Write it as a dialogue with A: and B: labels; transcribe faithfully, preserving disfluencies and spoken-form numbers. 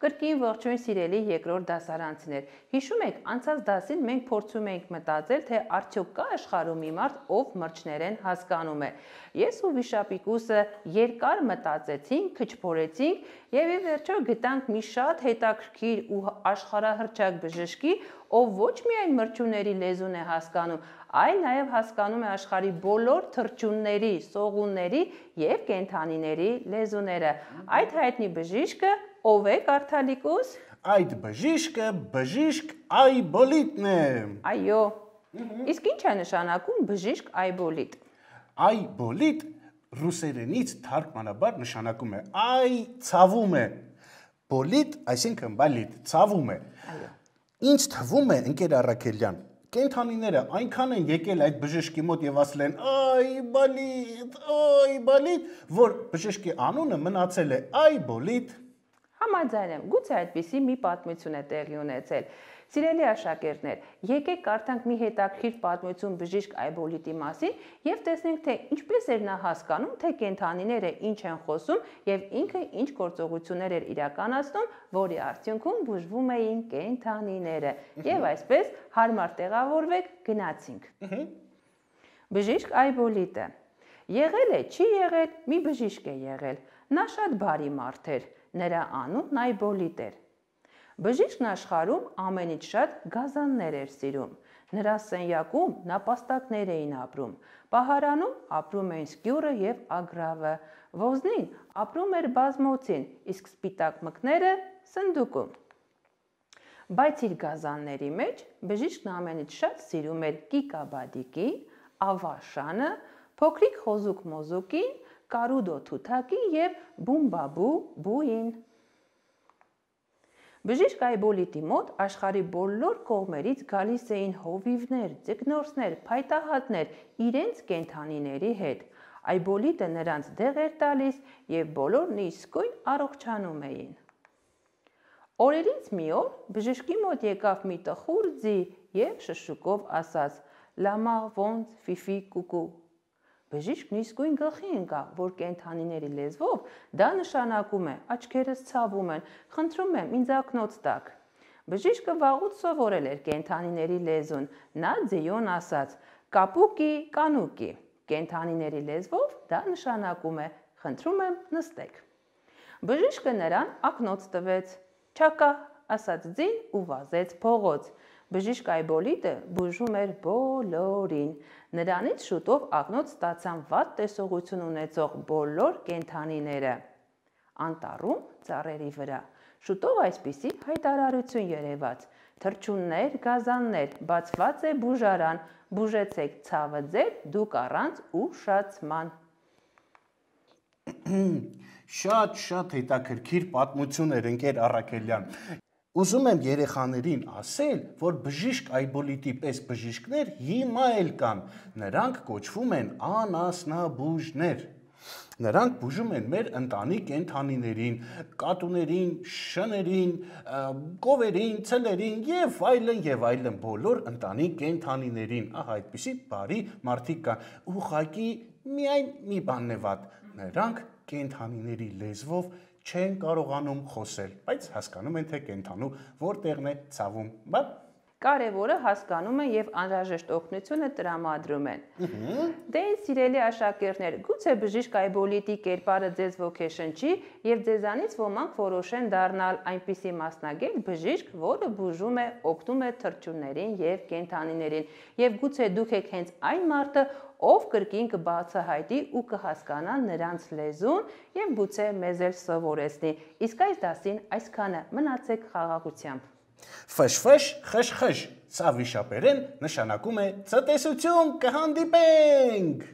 A: Կրկին ողջույն սիրելի երկրորդ դասարանցիներ։ Հիշում եք, անցած դասին մենք փորձում էինք մտածել, թե արդյոք կա աշխարհում մի մարդ, ով մրջներեն հասկանում է։ Ես ու Վիշապիկուսը երկար մտածեցինք, քչփորեցինք եւ ի վերջո գտանք մի շատ հետաքրքիր ու աշխարհահռչակ բժշկի, ով ոչ միայն մրջուների լեզուն է հասկանում, այլ նաև հասկանում է աշխարհի բոլոր թռչունների, սողունների եւ կենդանիների լեզուները։ Այդ հայտնի բժիշկը ով է, Կարթալիկուս։
B: Այդ բժիշկը բժիշկ Այբոլիտն է։
A: Այո։ Իսկ ինչ է նշանակում բժիշկ Այբոլիտ։
B: Այբոլիտ ռուսերենից թարգմանաբար նշանակում է այ ցավում է։ Բոլիտ, այսինքն բալիտ, ցավում է։
A: Այո։
B: Ինչ թվում է, ընկեր Առաքելյան, կենդանիները այնքան են եկել այդ բժշկի մոտ եւ ասել են այ բալիտ, այ բալիտ, որ բժշկի անունը մնացել է Այբոլիտ։
A: Համաձայն եմ, գուցե այդպիսի մի պատմություն է տեղի ունեցել։ Սիրելի աշակերտներ, եկեք կարդանք մի հետաքրքիր պատմություն բժիշկ Այբոլիտի մասին եւ տեսնենք, թե ինչպես էր նա հասկանում, թե կենդանիները ինչ են խոսում եւ ինքը ինչ գործողություններ էր իրականացնում, որի արդյունքում բուժվում էին կենդանիները։ Եվ այսպես հարմար տեղավորվեք, գնացինք։ Բժիշկ Այբոլիտը եղել է, չի եղել, մի բժիշկ է եղել։ Նա շատ բարի մարդ էր, նրա անունն Այբոլիտ էր։ Բժիշկն աշխարհում ամենից շատ գազաններ էր սիրում։ Նրա սենյակում նապաստակներ էին ապրում։ Պահարանում ապրում էին սկյուրը եւ ագրավը։ Ոզնին ապրում էր բազմոցին, իսկ սպիտակ մկները սնդուկում։ Բայց իր գազանների մեջ բժիշկն ամենից շատ սիրում էր կիկաբադիկին, ավաշանը, փոքրիկ խոզուկ մոզուկին, կարուդո թութակին եւ բումբաբու բուին։ Բժիշկ Այբոլիտի մոտ աշխարհի բոլոր կողմերից գալիս էին հովիվներ, ձկնորսներ, փայտահատներ իրենց կենդանիների հետ։ Այբոլիտը նրանց դեղ էր տալիս եւ բոլորն իսկույն առողջանում էին։ Օրերից մի օր բժշկի մոտ եկավ մի տխուր ձի եւ շշուկով ասաց. «Լամա ոնց ֆիֆի կուկու»։ Բժիշկն իսկույն գլխի ընկավ, որ կենդանիների լեզվով դա նշանակում է աչքերս ցավում են, խնդրում եմ ինձ ակնոց տաք։ Բժիշկը վաղուց սովորել էր կենդանիների լեզուն, նա ձիուն ասաց. «Կապուկի, կանուկի»։ Կենդանիների լեզվով դա նշանակում է խնդրում եմ նստեք։ Բժիշկը նրան ակնոց տվեց։ «Չակա», ասաց ձին ու վազեց փողոց։ Բժիշկ Այբոլիտը բուժում էր բոլորին։ Նրանից շուտով ակնոց ստացան վատ տեսողություն ունեցող բոլոր կենդանիները։ Անտառում ծառերի վրա շուտով այսպիսի հայտարարություն երևաց. թռչուններ, գազաններ, բացված է բուժարան, բուժեցեք ցավը ձեր, դուք առանց ուշացման։
B: Շատ-շատ հետաքրքիր պատմություն էր, ընկեր Առաքելյան։ Ուզում եմ երեխաներին ասել, որ բժիշկ Այբոլիտի պես բժիշկներ հիմա էլ կան, նրանք կոչվում են անասնաբուժներ։ Նրանք բուժում են մեր ընտանի կենդանիներին, կատուներին, շներին, կովերին, ցլերին եւ այլն եւ այլն բոլոր ընտանի կենդանիներին։ Ահա այդպիսի բարի մարդիկ կան։ Ուղղակի միայն մի բանն է վատ, նրանք կենդանիների լեզվով չեն կարողանում խոսել, բայց հասկանում են, թե կենդանու որտեղն է ցավում։ Բա
A: Կարևորը հասկանում են եւ անհրաժեշտ օգնությունը տրամադրում են։ Դե ինձ սիրելի աշակերտներ, գուցե բժիշկ Այբոլիտի կերպարը ձեզ ոգեշնչի եւ ձեզանից ոմանք որոշեն դառնալ այնպիսի մասնագետ բժիշկ, որը բուժում է, օգնում է թռչուններին եւ կենդանիներին։ Եվ գուցե դուք եք հենց այն մարդը, ով կրկին կբացահայտի ու կհասկանա նրանց լեզուն եւ գուցե մեզ էլ սովորեցնի։ Իսկ այս դասին այսքանը, մնացեք խաղաղությամբ։
B: Ֆշ-ֆշ, խշ-խշ, սա վիշապերեն նշանակում է ցտեսություն, կհանդիպենք։